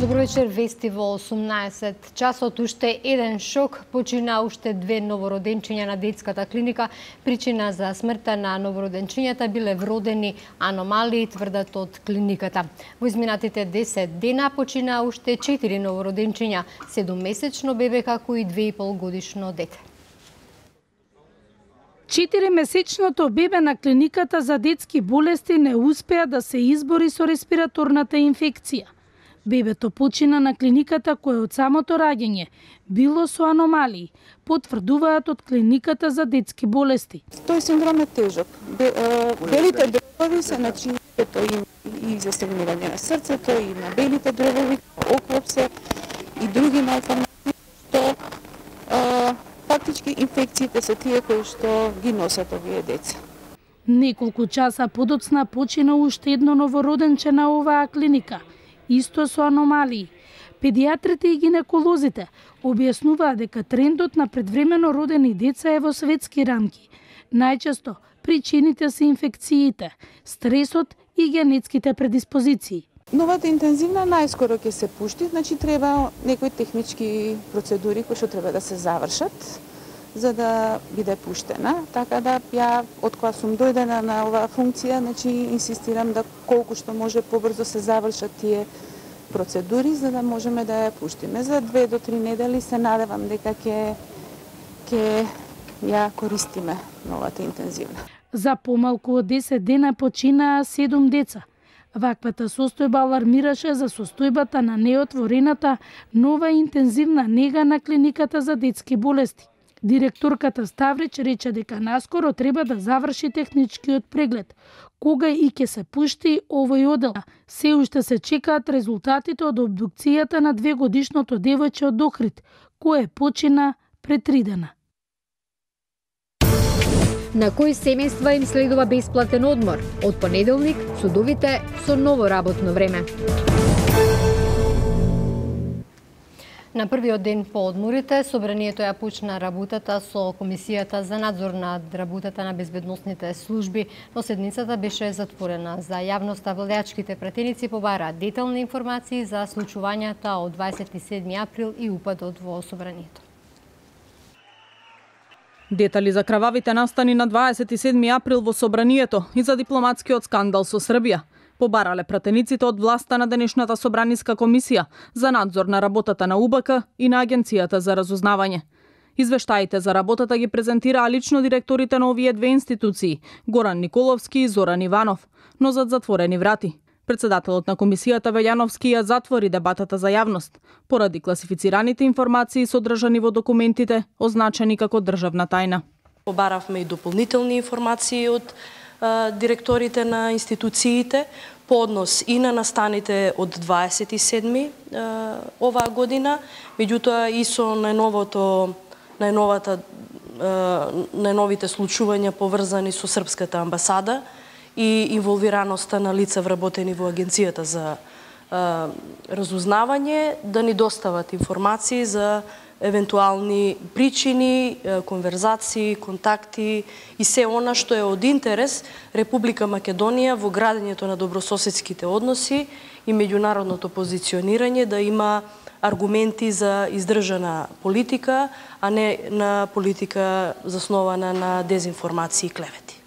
Добро вечер, вести во 18 часот. Уште еден шок, почина уште 2 новороденчиња на детската клиника. Причина за смртта на новороденчињата биле вродени аномалии, тврдат од клиниката. Во изминатите 10 дена почина уште 4 новороденчиња, 7-месечно бебе како и 2,5 годишно дете. 4-месечното бебе на клиниката за детски болести не успеа да се избори со респираторната инфекција. Бебето почина на клиниката кое од самото раѓање било со аномалии, потврдуваат од клиниката за детски болести. Тој синдром е тежок. Белите дробови се начинето и застегнување на срцето, и на белите дробови, оклопсе и други малформации, што фактички инфекциите се тие кои што ги носат овие деца. Неколку часа подоцна почина уште едно новороденче на оваа клиника, исто со аномалии. Педиатрите и гинеколозите објаснуваат дека трендот на предвремено родени деца е во светски рамки. Најчесто причините се инфекциите, стресот и генетските предиспозиции. Новата интензивна најскоро ќе се пушти, значи треба некои технички процедури кои што треба да се завршат за да биде пуштена. Така да ја од кога сум дојдена на оваа функција, значи инсистирам да колку што може побрзо се завршат тие процедури за да можеме да ја пуштиме. За 2 до 3 недели се надевам дека ќе ја користиме новата интензивна. За помалку од 10 дена починаа 7 деца. Ваквата состојба алармираше за состојбата на неотворената нова интензивна нега на клиниката за детски болести. Директорката Ставрич рече дека наскоро треба да заврши техничкиот преглед. Кога и ќе се пушти овој одел, се уште се чекаат резултатите од обдукцијата на 2-годишното девојче од Охрид, кое почина пред 3 дена. На кои семејства им следува бесплатен одмор? Од понеделник, судовите со ново работно време. На првиот ден по одморите, собранието ја почна работата со Комисијата за надзор над работата на безбедносните служби, но седницата беше затворена за јавноста. Владеачките пратеници побараат детални информации за случувањата од 27 април и упадот во собранието. Детали за крававите настани на 27 април во собранието и за дипломатскиот скандал со Србија побарале пратениците од власта на денешната собраниска комисија за надзор на работата на УБК и на Агенцијата за разузнавање. Извештаите за работата ги презентираа лично директорите на овие две институции, Горан Николовски и Зоран Иванов, но зад затворени врати. Председателот на комисијата Вељановски ја затвори дебатата за јавност, поради класифицираните информации содржани во документите, означени како државна тајна. Побаравме и дополнителни информации од директорите на институциите по однос и на настаните од 27 оваа година, меѓутоа и со најновите случувања поврзани со Српската амбасада и инволвираноста на лица вработени во Агенцијата за разузнавање, да ни достават информации за евентуални причини, конверзации, контакти и се она што е од интерес Република Македонија во градењето на добрососедските односи и меѓународното позиционирање, да има аргументи за издржана политика, а не на политика заснована на дезинформации и клевети.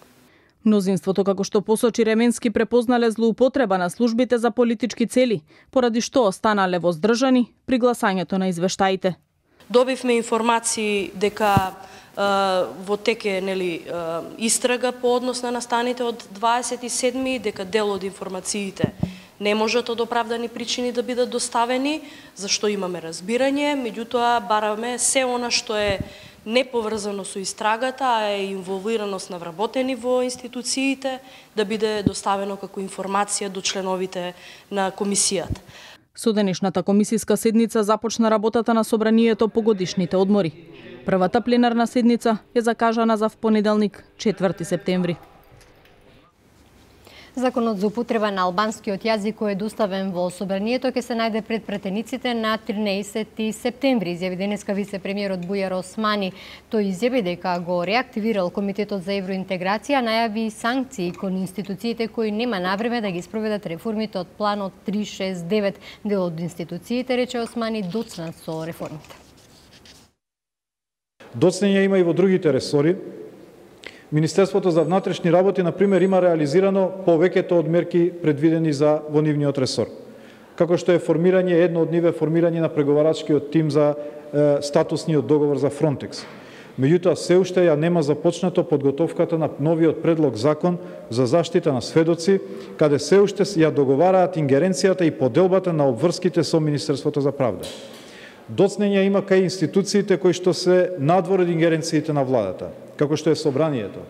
Мнозинството, како што посочи Ременски, препознале злоупотреба на службите за политички цели, поради што останале воздржани при гласањето на извештаите. Добивме информации дека во теке истрага по однос на настаните од 27, дека дел од информациите не можат од оправдани причини да бидат доставени, зашто имаме разбирање, меѓутоа бараме се она што е неповрзано со истрагата, а е инволвираност на вработени во институциите, да биде доставено како информација до членовите на комисијата. Со денешната комисиска седница започна работата на собранието по годишните одмори. Првата пленарна седница е закажана за понеделник, 4 септември. Законот за употреба на албанскиот јазик кој е доставен во собранието ќе се најде пред пратениците на 13 септември, изјави денеска вице-премиерот Бујар Османи. Тој изјави дека го реактивирал Комитетот за евроинтеграција, најави санкции кон институциите кои нема навреме да ги спроведат реформите од планот 369. Дел од институциите, рече Османи, доцнат со реформите. Доцнење има и во другите ресори. Министерството за внатрешни работи, например, има реализирано повеќето од мерки предвидени за во нивниот ресор. Како што е формирање, едно од нив е формирање на преговарачкиот тим за статусниот договор за Фронтекс. Меѓутоа, се уште ја нема започнато подготовката на новиот предлог закон за заштита на сведоци, каде се уште ја договараат ингеренцијата и поделбата на обврските со Министерството за правда. Доцнење има кај институциите кои што се надвор од ингеренциите на владата, како што е собранието,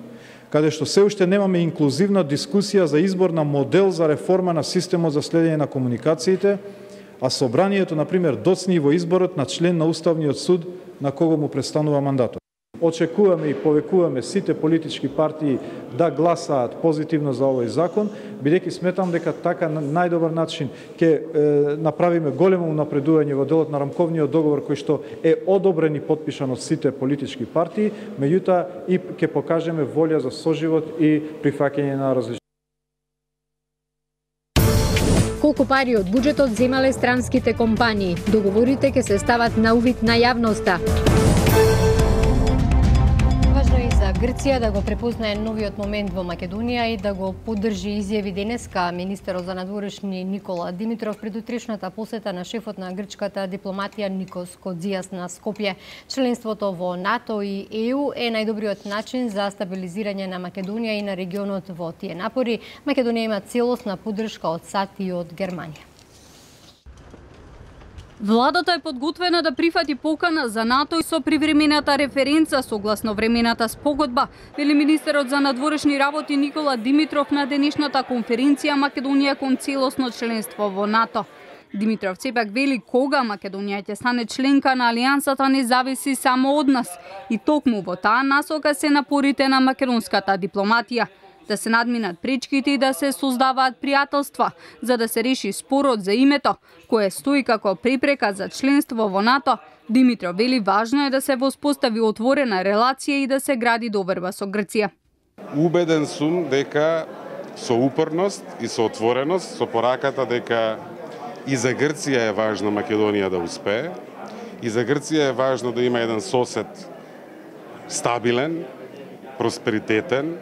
каде што се уште немаме инклузивна дискусија за избор на модел за реформа на системот за следење на комуникациите, а собранието, например, доцни во изборот на член на Уставниот суд на кого му престанува мандатот. Очекуваме и повекуваме сите политички партии да гласаат позитивно за овој закон, бидејќи сметам дека така на најдобар начин ќе направиме големо напредување во делот на рамковниот договор кој што е одобрен и подпишан од сите политички партии, меѓутоа и ќе покажеме волја за соживот и прифаќање на различни. Колку пари од буџетот земале странските компании? Договорите ќе се стават на увид на јавноста. Грција да го препознае новиот момент во Македонија и да го поддржи, изјави денеска министерот за надворешни Никола Димитров пред утрешната посета на шефот на грчката дипломатија Никос Кодзијас на Скопје. Членството во НАТО и ЕУ е најдобриот начин за стабилизирање на Македонија и на регионот во тие напори. Македонија има целосна поддршка од САД и од Германија. Владата е подготвена да прифати покана за НАТО и со привремената референца согласно времената спогодба, вели министерот за надворешни работи Никола Димитров на денешната конференција Македонија кон целосно членство во НАТО. Димитров сепак вели кога Македонија ќе стане членка на алијансата не зависи само од нас и токму во таа насока се напорите на македонската дипломатија. Да се надминат пречките и да се создаваат пријателства, за да се реши спорот за името, кое стои како препрека за членство во НАТО. Димитров вели важно е да се воспостави отворена релација и да се гради доверба со Грција. Убеден сум дека со упорност и со отвореност, со пораката дека и за Грција е важно Македонија да успее, и за Грција е важно да има еден сосед стабилен, просперитетен,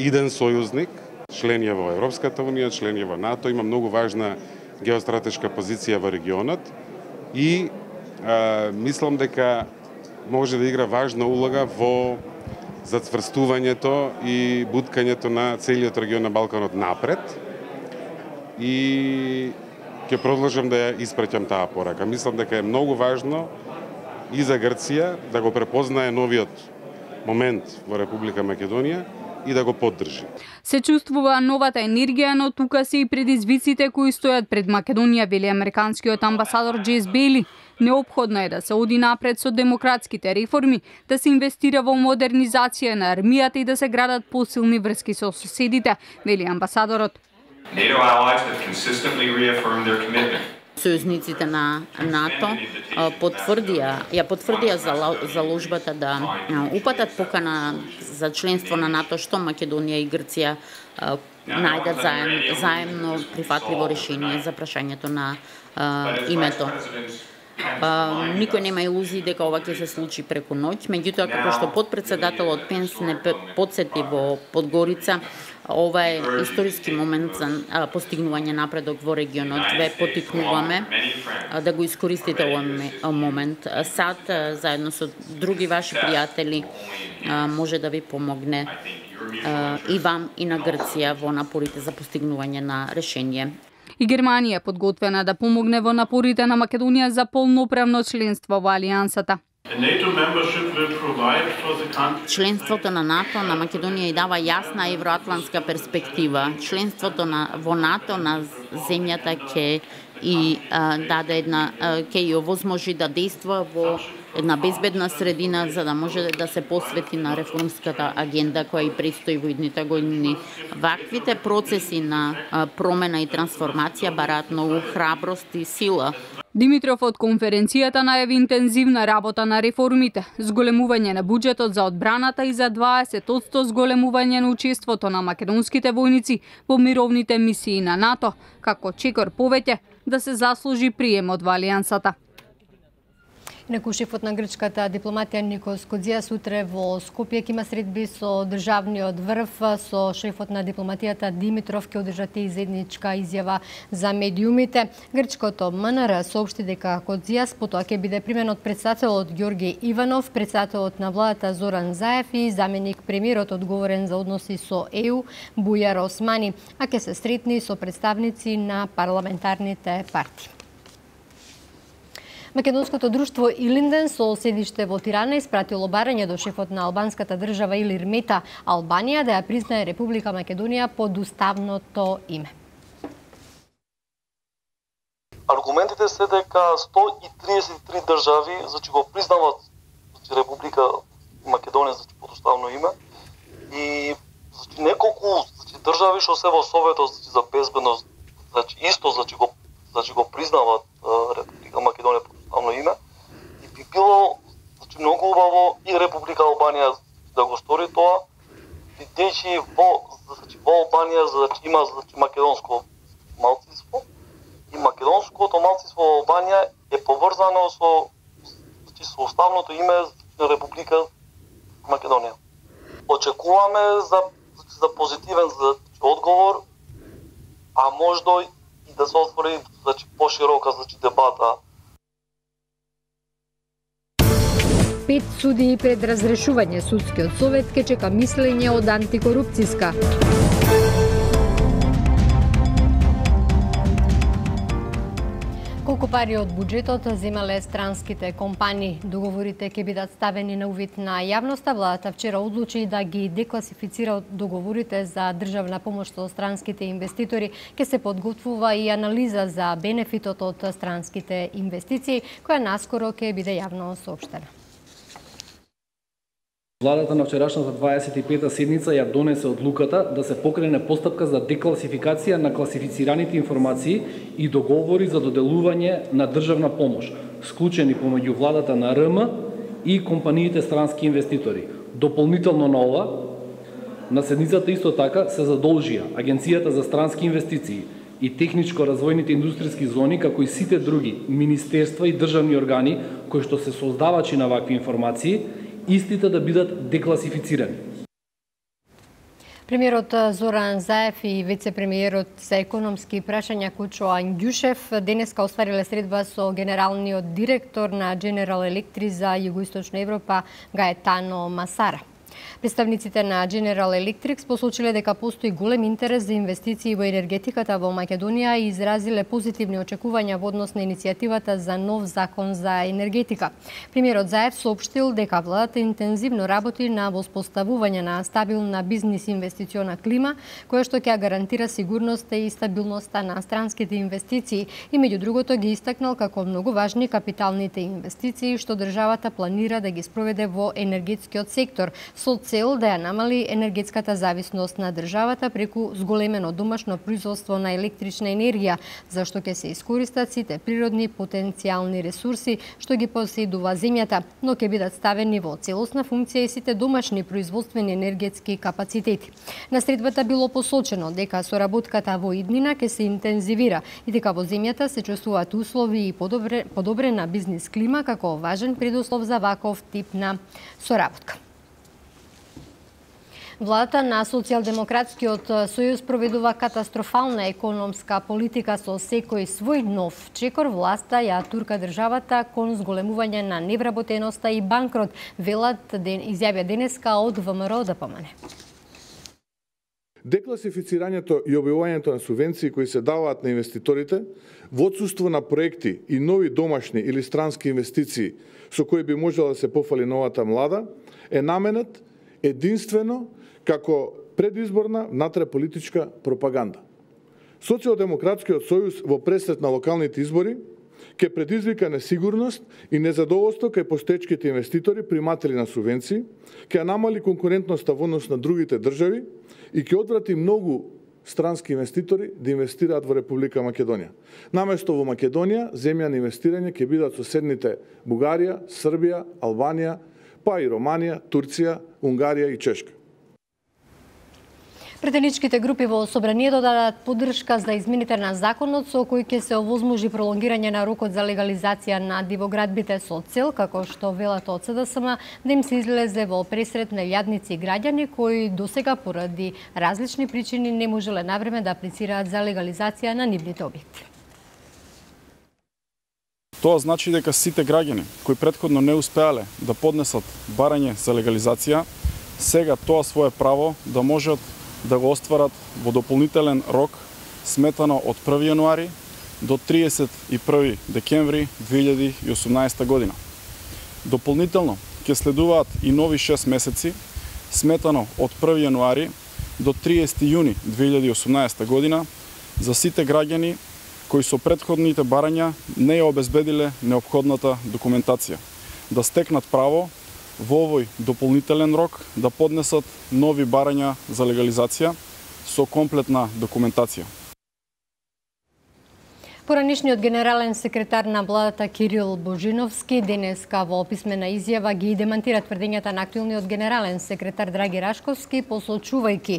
иден сојузник, член е во Европската унија, член е во НАТО, има многу важна геостратешка позиција во регионот и мислам дека може да игра важна улога во зацврстувањето и буткањето на целиот регион на Балканот напред и ќе продолжам да ја испраќам таа порака. Мислам дека е многу важно и за Грција да го препознае новиот момент во Република Македонија и да го поддржи. Се чувствува новата енергија, но тука се и предизвиците кои стојат пред Македонија, вели американскиот амбасадор Джейс Бейли. Неопходно е да се оди напред со демократските реформи, да се инвестира во модернизација на армијата и да се градат посилни врски со соседите, вели амбасадорот. Сојузниците на НАТО потврдија заложбата да упатат покана за членство на НАТО што Македонија и Грција најдат заемно прифатливо решение за прашањето на името. Никој нема илузии дека ова ќе се случи преку ноќ, меѓутоа како што подпредседателот Пенс не подсети во Подгорица, ова е историски момент за постигнување напредок во регионот. Ве потикнуваме да го искористите овој момент. САД заедно со други ваши пријатели може да ви помогне и вам и на Грција во напорите за постигнување на решение. И Германија е подготвена да помогне во напорите на Македонија за полноправно членство во алијансата. Членството на НАТО на Македонија и дава јасна евроатлантска перспектива. Членството во НАТО на земјата ќе и даде ќе ја овозможи да дејства во една безбедна средина за да може да се посвети на реформската агенда која и предстои во идните години. Ваквите процеси на промена и трансформација бараат многу храброст и сила. Димитров од конференцијата најави интензивна работа на реформите, зголемување на буџетот за одбраната и за 20% зголемување на учеството на македонските војници во мировните мисии на НАТО, како чекор повеќе да се заслужи приемот во алијансата. Инаку шефот на грчката дипломатија Никос Кодзиас утре во Скопје ќе има средби со државниот врв, со шефот на дипломатијата Димитров ќе одржат и заедничка изјава за медиумите. Грчкото МНР соопшти дека Кодзиас потоа ќе биде примен од претседателот Ѓорги Иванов, претседателот на владата Зоран Заев и заменик премиерот одговорен за односи со ЕУ Бујар Османи, а ќе се сретни со представници на парламентарните партии. Македонското друштво Илинден со седиште во Тирана испратило барање до шефот на албанската држава Илир Мета Албанија да ја признае Република Македонија под уставното име. Аргументите се дека 133 држави го признават Република Македонија под уставно име и неколку држави што се во Советот за безбедност исто го признават Република Македонија под уставно име и би било многу убаво и Република Албанија да го стори тоа, бидејќи во Албанија има македонско малцинство и македонското малцинство во Албанија е поврзано со уставното име на Република Македонија. Очекуваме за позитивен одговор, а можда и да се отвори поширока дебата. 5 судии пред разрешување судскиот совет ке чека мислење од антикорупцијска. Колку пари од буџетот земале странските компании? Договорите ќе бидат ставени на увид на јавноста. Владата вчера одлучи да ги декласифицира договорите за државна помош со странските инвеститори. Ке се подготвува и анализа за бенефитот од странските инвестиции, која наскоро ќе биде јавно соопштена. Владата на вчерашната 25-та седница ја донесе одлуката да се покрене постапка за декласификација на класифицираните информации и договори за доделување на државна помош, склучени помеѓу владата на РМ и компаниите странски инвеститори. Дополнително на ова, на седницата исто така се задолжија Агенцијата за странски инвестиции и техничко-развојните индустријски зони, како и сите други министерства и државни органи кои што се создавачи на вакви информации, истите да бидат декласифицирани. Премиерот Зоран Заев и вице-премиерот за економски прашања Кучо Ангјушев денеска оствариле средба со генералниот директор на General Electric за Југоисточна Европа Гаетано Масара. Представниците на General Electric посочиле дека постои голем интерес за инвестиции во енергетиката во Македонија и изразиле позитивни очекувања во однос на иницијативата за нов закон за енергетика. Премиерот Заев соопштил дека владата интензивно работи на воспоставување на стабилна бизнис инвестициона клима, која што ќе гарантира сигурноста и стабилноста на странските инвестиции и меѓу другото ги истакнал како многу важни капиталните инвестиции што државата планира да ги спроведе во енергетскиот сектор со цел да ја намали енергетската зависност на државата преку зголемено домашно производство на електрична енергија, зашто ќе се искористат сите природни потенцијални ресурси што ги поседува земјата, но ќе бидат ставени во целосна функција и сите домашни производствени енергетски капацитети. На средбата било посочено дека соработката во иднина ќе се интензивира и дека во земјата се чувствуваат услови и подобрена бизнис клима како важен предуслов за ваков тип на соработка. Владата на Социјалдемократскиот сојуз проведува катастрофална економска политика со секој свој нов чекор. Власта ја турка државата кон зголемување на невработеноста и банкрот, велат изјавија денеска од ВМРО ДПМН. Декласифицирањето и објавувањето на субвенции кои се даваат на инвеститорите во отсуство на проекти и нови домашни или странски инвестиции со кои би можела да се пофали новата млада е наменет единствено како предизборна внатреполитичка пропаганда. Социјалдемократскиот сојуз во пресет на локалните избори ќе предизвика несигурност и незадоволство кај постоечките инвеститори, приматели на субвенции, ќе намали конкурентноста во однос на другите држави и ќе одврати многу странски инвеститори да инвестираат во Република Македонија. Наместо во Македонија, земја на инвестирање ќе бидат соседните Бугарија, Србија, Албанија, па и Романија, Турција, Унгарија и Чешка. Претеничките групи во собранието дадат поддршка за измените на законот со кој ќе се овозможи пролонгирање на рокот за легализација на дивоградбите со цел, како што велат од СДСМ, да им се излезе во пресрет нејадници и граѓани кои досега поради различни причини не можеле навреме да аплицираат за легализација на нивните објекти. Тоа значи дека сите граѓани кои претходно не успеале да поднесат барање за легализација, сега тоа свое право да можат да го остварат во дополнителен рок сметано од 1 јануари до 31 декември 2018 година. Дополнително ќе следуваат и нови 6 месеци сметано од 1 јануари до 30 јуни 2018 година за сите граѓани кои со претходните барања не ја обезбедиле неопходната документација, да стекнат право во овој дополнителен рок да поднесат нови барања за легализација со комплетна документација. Поранишниот генерален секретар на владата Кирил Божиновски денеска во писмена изјава ги демантира тврдењата на актуелниот генерален секретар Драги Рашковски, посочувајќи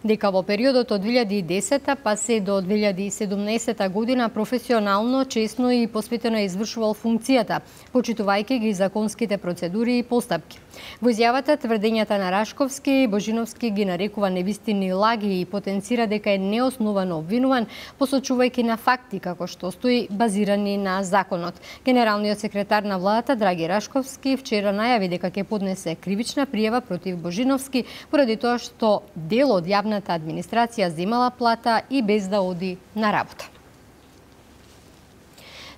дека во периодот од 2010 па се до 2017 година професионално, честно и посветено извршувал функцијата, почитувајќи ги законските процедури и постапки. Во изјавата тврдењата на Рашковски, Божиновски ги нарекува невистини и лаги и потенцира дека е неосновано обвинуван, посочувајќи на факти како што стои базирани на законот. Генералниот секретар на владата Драги Рашковски вчера најави дека ќе поднесе кривична пријава против Божиновски поради тоа што дел од јавната администрација земала плата и без да оди на работа.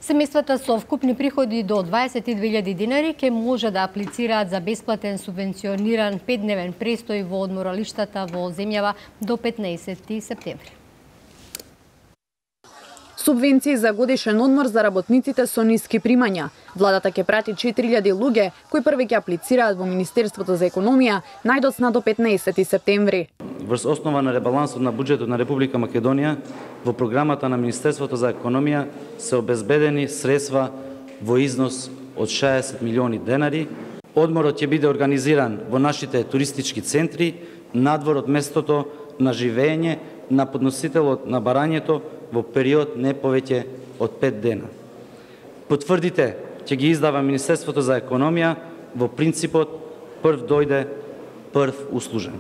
Семејствата со вкупни приходи до 22.000 динари ќе може да аплицираат за бесплатен субвенциониран 5-дневен престој во одморалиштата во земјава до 15 септември. Субвенции за годишен одмор за работниците со ниски примања. Владата ќе прати 4000 луѓе кои први ќе аплицираат во Министерството за економија најдоцна до 15 септември. Врз основа на ребалансот на буџетот на Република Македонија, во програмата на Министерството за економија се обезбедени средства во износ од 60 милиони денари. Одморот ќе биде организиран во нашите туристички центри, надвор од местото на живење на подносителот на барањето во период не повеќе од 5 дена. Потврдите ќе ги издава Министерството за економија во принципот прв дојде, прв услужен.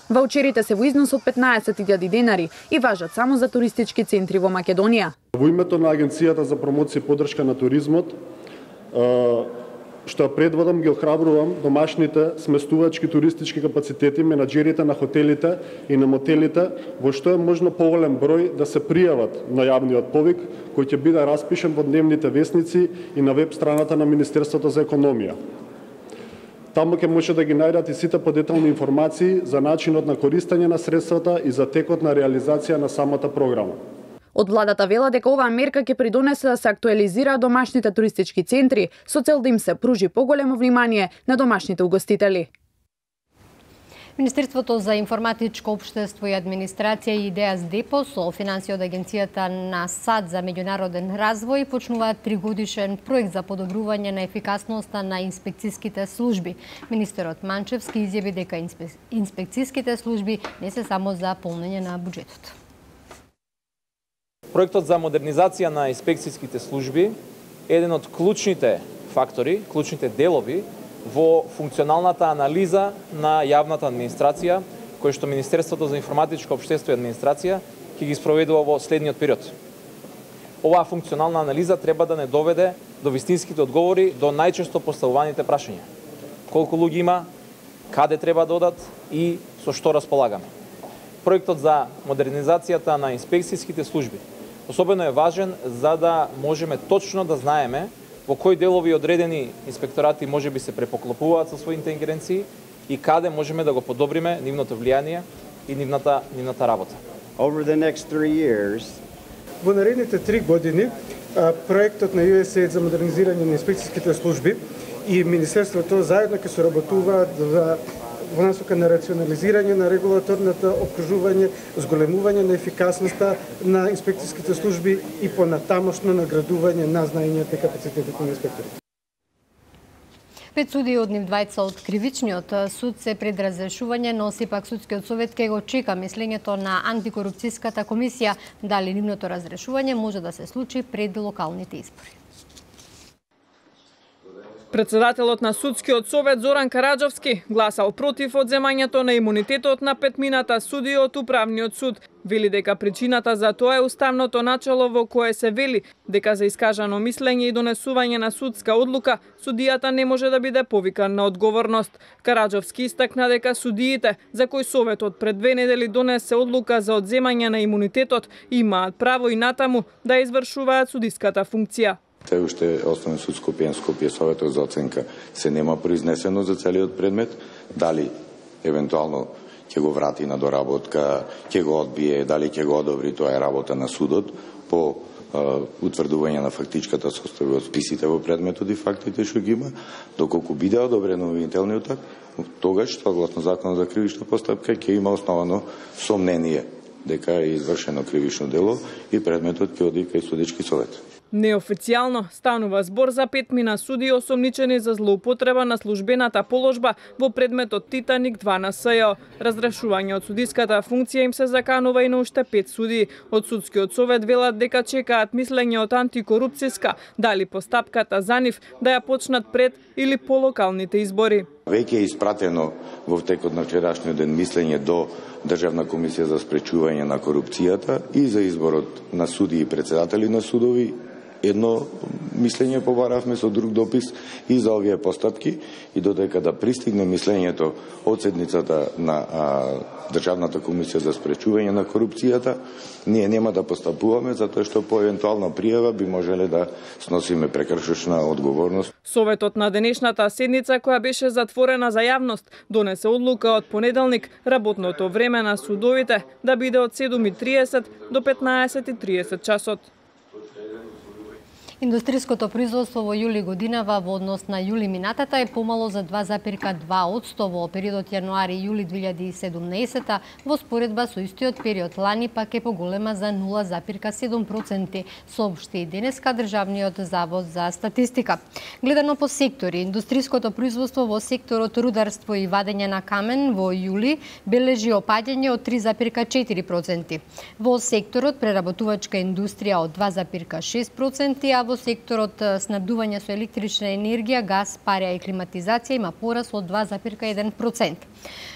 Ваучерите се во износ од 15.000 денари и важат само за туристички центри во Македонија. Во името на Агенцијата за промоција и поддршка на туризмот, што ја предводам, ги охрабрувам домашните сместувачки туристички капацитети, менаџерите на хотелите и на мотелите, во што е можно поголем број да се пријават на јавниот повик, кој ќе биде распишен во дневните весници и на веб страната на Министерството за економија. Таму ќе може да ги најдат и сите подетални информации за начинот на користење на средствата и за текот на реализација на самата програма. Од владата вела дека оваа мерка ќе придонесе да се актуализираат домашните туристички центри со цел да им се пружи поголемо внимание на домашните угостители. Министерството за информатичко општество и администрација и ИДЕАС ДЕПО со финансија од Агенцијата на САД за меѓународен развој почнуваат 3-годишен проект за подобрување на ефикасноста на инспекцијските служби. Министерот Манчевски изјави дека инспекцијските служби не се само за полнење на буџетот. Проектот за модернизација на инспекцијските служби е еден од клучните фактори, клучните делови во функционалната анализа на јавната администрација, кој што Министерството за информатичко општество и администрација ќе ги спроведува во следниот период. Оваа функционална анализа треба да не доведе до вистинските одговори до најчесто поставуваните прашања. Колку луѓе има, каде треба да одат и со што располагаме. Проектот за модернизацијата на инспекцијските служби особено е важен за да можеме точно да знаеме во кои делови одредени инспекторати може би се препоклопуваат со своите ингеренции и каде можеме да го подобриме нивното влијание и нивната работа. Over the next 3 years, во наредните 3 години проектот на USAID за модернизирање на инспекцијските служби и Министерството заедно ќе соработуваат во насока на рационализирање на регулаторното опкружување, зголемување на ефикасноста на инспекцијските служби и понатамошно наградување на знаењата и капацитетите на инспекторите. 5 судии од нив двајца од кривичниот суд се пред разрешување, но сепак судскиот совет ќе го чека мислењето на антикорупцијската комисија дали нивното разрешување може да се случи пред локалните избори. Председателот на судскиот совет Зоран Караџовски гласал против одземањето на имунитетот на петмината судии од управниот суд. Вели дека причината за тоа е уставното начело во кое се вели дека за искажано мислење и донесување на судска одлука судијата не може да биде повикан на одговорност. Караџовски истакна дека судиите за кои советот пред 2 недели донесе одлука за одземање на имунитетот имаат право и натаму да извршуваат судиската функција. Се уште Основен суд Скопје советот за оценка се нема произнесено за целиот предмет, дали евентуално ќе го врати на доработка, ќе го одбие, дали ќе го одобри, тоа е работа на судот по утврдување на фактичката состојба од списите во предметот и фактите што ги има, доколку биде одобрен обвинителниот акт, тогаш согласно законот за кривична постапка ќе има основано сомнение дека е извршено кривично дело и предметот ќе оди кај судички совет. Неофицијално станува збор за петмина судии осомничени за злоупотреба на службената положба во предметот Титаник 2 на СЈО. Разрешување од судиската функција им се заканува и на уште 5 судии. Од судскиот совет велат дека чекаат мислење од антикорупцијска, дали постапката за нив да ја почнат пред или по локалните избори. Веќе е испратено во текот на вчерашниот ден мислење до Државна комисија за спречување на корупцијата и за изборот на судии и председатели на судови. Едно мислење побаравме со друг допис и за овие постапки и додека да пристигне мислењето од седницата на Државната комисија за спречување на корупцијата, ние нема да постапуваме затоа што по евентуална пријава би можеле да сносиме прекршочна одговорност. Советот на денешната седница, која беше затворена за јавност, донесе одлука од понеделник работното време на судовите да биде од 7:30 до 15:30 часот. Индустријското производство во јули годинава во однос на јули минатата е помало за 2,2% во периодот јануари-јули 2017, во споредба со истиот период лани пак е поголема за 0,7%, соопшти денеска Државниот завод за статистика. Гледано по сектори, индустријското производство во секторот рударство и вадење на камен во јули бележи опаѓање од 3,4%. Во секторот преработувачка индустрија од 2,6%, а во секторот снабдување со електрична енергија, газ, парја и климатизација има пораст од 2,1%.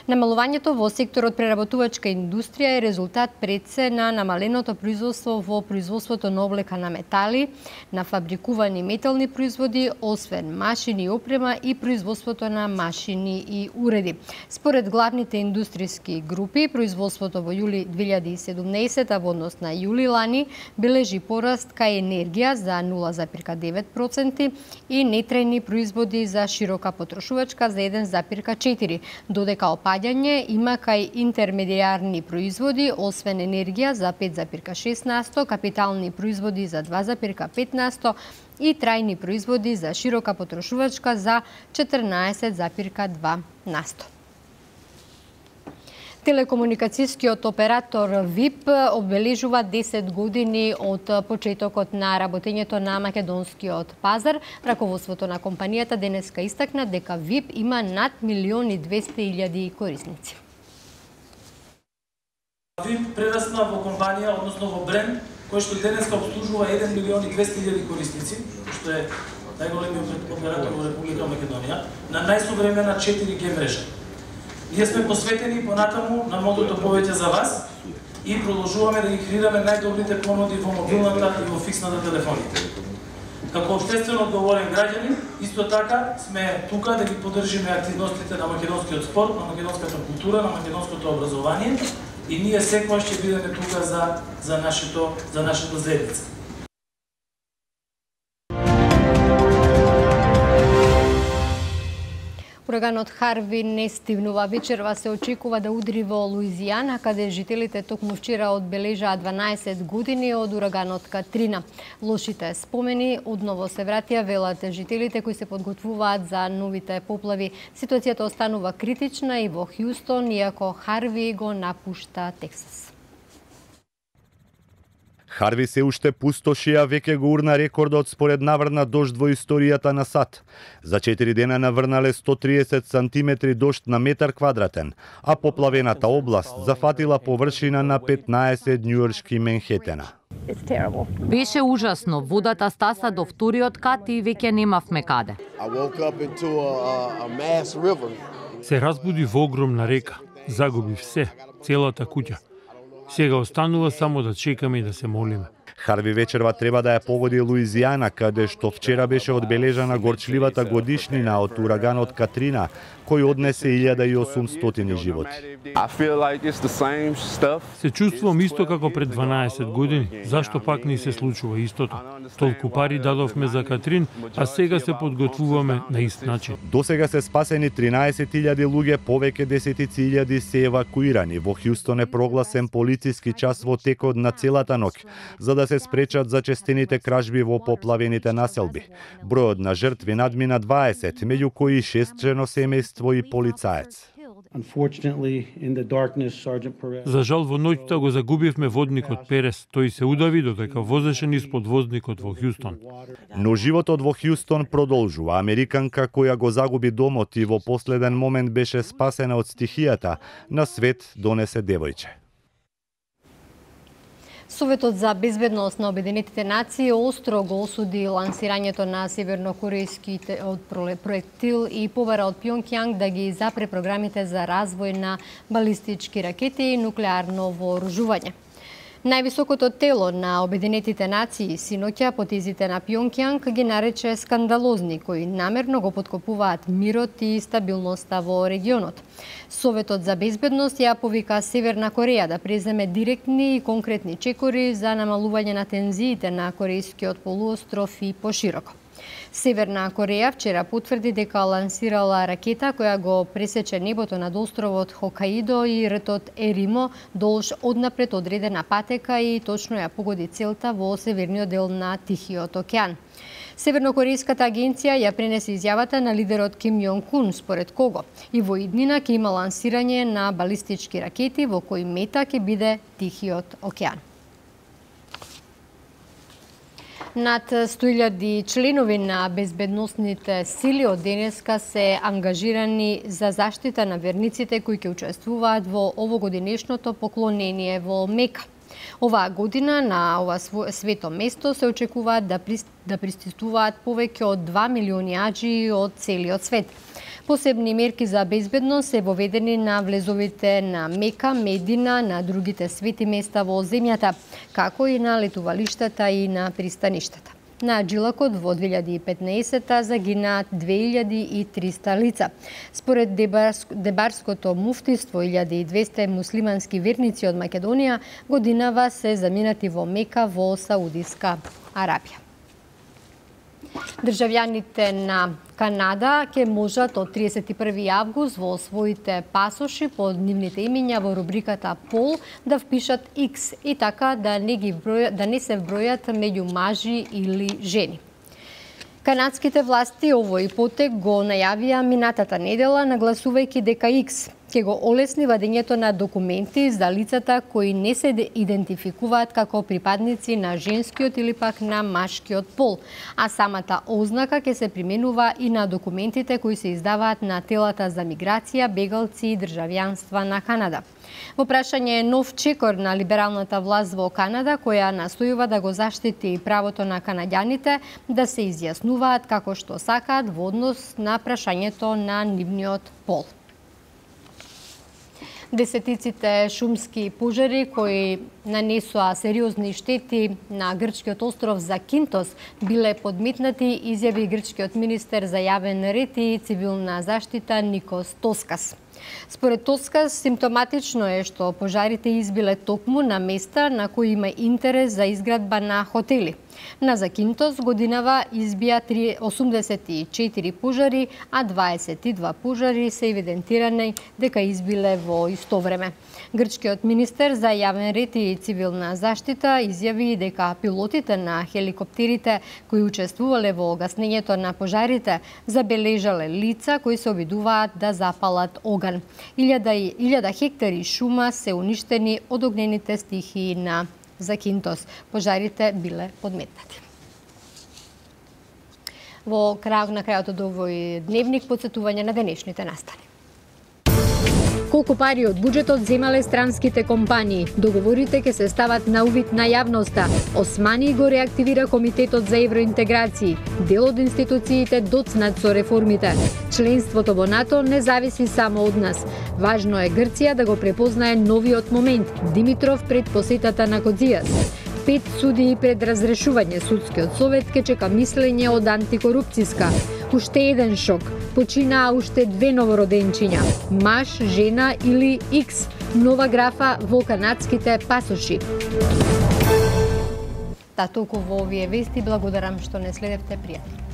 Намалувањето во секторот преработувачка индустрија е резултат пред се на намаленото производство во производството на облека на метали, на фабрикувани метални производи, освен машини и опрема и производството на машини и уреди. Според главните индустријски групи, производството во јули 2017 во однос на јули лани бележи пораст кај енергија за 0,9% и нетрајни производи за широка потрошувачка за 1,4%, додека опаѓање има кај интермедијарни производи, освен енергија за 5,6%, капитални производи за 2,5% и трајни производи за широка потрошувачка за 14,2%. Телекомуникацијскиот оператор ВИП обележува 10 години од почетокот на работењето на македонскиот пазар. Раководството на компанијата денеска истакна дека ВИП има над 1.200.000 корисници. ВИП прерасна во компанија, односно во бренд, кој што денеска обслужува 1.200.000 корисници, што е најголемиот оператор во Република Македонија, на најсовремена 4G мрежа. Ние сме посветени понатаму на мотото повеќе за вас и продолжуваме да ги креираме најдобрите понуди во мобилната и во фиксната телефонија. Како општествено одговорен граѓанин, исто така сме тука да ги поддржиме активностите на македонскиот спорт, на македонската култура, на македонското образование и ние секогаш ќе бидеме тука за нашата заедница. Ураганот Харви не стивнува. Вечерва се очекува да удри во Луизијана, каде жителите токму вчера одбележаа 12 години од ураганот Катрина. Лошите спомени одново се вратија, велат жителите кои се подготвуваат за новите поплави. Ситуацијата останува критична и во Хјустон, иако Харви го напушта Тексас. Харви се уште пустоши, а веќе го урна рекордот според наврна дожд во историјата на САД. За 4 дена наврнале 130 сантиметри дожд на метар квадратен, а поплавената област зафатила површина на 15 њујоршки Менхетена. Беше ужасно. Водата стаса до вториот кат и веќе немавме каде. Се разбуди во огромна река. Загубив се, целата куќа. Сега останува само да чекаме и да се молиме. Харви вечерва треба да ја погоди Луизијана, каде што вчера беше одбележана горчливата годишнина од ураганот Катрина, кој однесе 1800 животи. Се чувствувам исто како пред 12 години. Зашто пак ни се случува истото? Толку пари дадовме за Катрин, а сега се подготвуваме на ист начин. Досега се спасени 13.000 луѓе, повеќе десетици илјади се евакуирани. Во Хјустон е прогласен полициски час во текот на целата ноќ, за да се спречат зачестените кражби во поплавените населби. Бројот на жртви надмина 20, меѓу кои 6 семејство и полицаец. За жал во ноќта го загубивме водникот Перес. Тој се удави додека возеше низ подвозникот во Хјустон. Но животот во Хјустон продолжува. Американка која го загуби домот и во последен момент беше спасена од стихијата, на свет донесе девојче. Советот за безбедност на Обединетите нации остро го осуди лансирањето на севернокорејските од проектил и побара од Пјонкјанг да ги запре програмите за развој на балистички ракети и нуклеарно вооружување. Највисокото тело на Обединетите нации синоќа потезите на Пјонкјанг ги нарече скандалозни, кои намерно го поткопуваат мирот и стабилноста во регионот. Советот за безбедност ја повика Северна Кореја да преземе директни и конкретни чекори за намалување на тензиите на Корејскиот полуостров и пошироко. Северна Кореја вчера потврди дека лансирала ракета која го пресече небото над островот Хокаидо и ртот Еримо долж однапред одредена патека и точно ја погоди целта во северниот дел на Тихиот океан. Севернокорејската агенција ја пренесе изјавата на лидерот Ким Јонг Ун, според кого и во иднина ќе има лансирање на балистички ракети во кои мета ќе биде Тихиот океан. Над 100.000 членови на безбедносните сили од денеска се ангажирани за заштита на верниците кои ќе учествуваат во овогодинешното поклонение во Мека. Оваа година на ова свето место се очекуваат да пристигнуваат повеќе од 2 милиони аџии од целиот свет. Посебни мерки за безбедност се воведени на влезовите на Мека, Медина, на другите свети места во земјата, како и на летувалиштата и на пристаништата. На Джилакот во 2015 загинаат 2300 лица. Според Дебарското муфтиство, 1200 муслимански верници од Македонија годинава се заминати во Мека во Саудиска Арабија. Државјаните на Канада ќе можат од 31 август во своите пасоши под нивните имиња во рубриката пол да впишат X и така да не се вбројат меѓу мажи или жени. Канадските власти овој потек го најавија минатата недела, нагласувајќи дека X ќе го олесни вадењето на документи за лицата кои не се идентификуваат како припадници на женскиот или пак на машкиот пол, а самата ознака ќе се применува и на документите кои се издаваат на телата за миграција, бегалци и државјанства на Канада. Во прашање нов чекор на либералната власт во Канада, која настојува да го заштити правото на канаѓаните да се изјаснуваат како што сакаат во однос на прашањето на нивниот пол. Десетиците шумски пожари кои нанесоа сериозни штети на грчкиот остров Закинтос биле подметнати, изјави грчкиот министер за јавен ред и цивилна заштита Никос Тоскас. Според Тоскас, симптоматично е што пожарите избиле токму на места на кои има интерес за изградба на хотели. На Закинтос годинава избија 84 пожари, а 22 пожари се евидентирани дека избиле во исто време. Грчкиот министер за јавен ред и цивилна заштита изјави дека пилотите на хеликоптерите кои учествувале во гаснењето на пожарите забележале лица кои се обидуваат да запалат оган. 1000 хектари шума се уништени од огнените стихии на Закинтос. Пожарите биле подметнати. Во на крајот од овој дневник подсетување на денешните настани. Колку пари од буџетот земале странските компании? Договорите ќе се стават на увид на јавноста. Османи го реактивира Комитетот за евроинтеграции. Дел од институциите доцнат со реформите. Членството во НАТО не зависи само од нас. Важно е Грција да го препознае новиот момент. Димитров пред посетата на Кодзијас. 5 судии пред разрешување. Судскиот совет ке чека мислење од антикорупцијска. Уште еден шок. Починаа уште 2 новороденчиња. Маж, жена или X. Нова графа во канадските пасоши. Толку во овие вести. Благодарам што не следевте. Пријатно.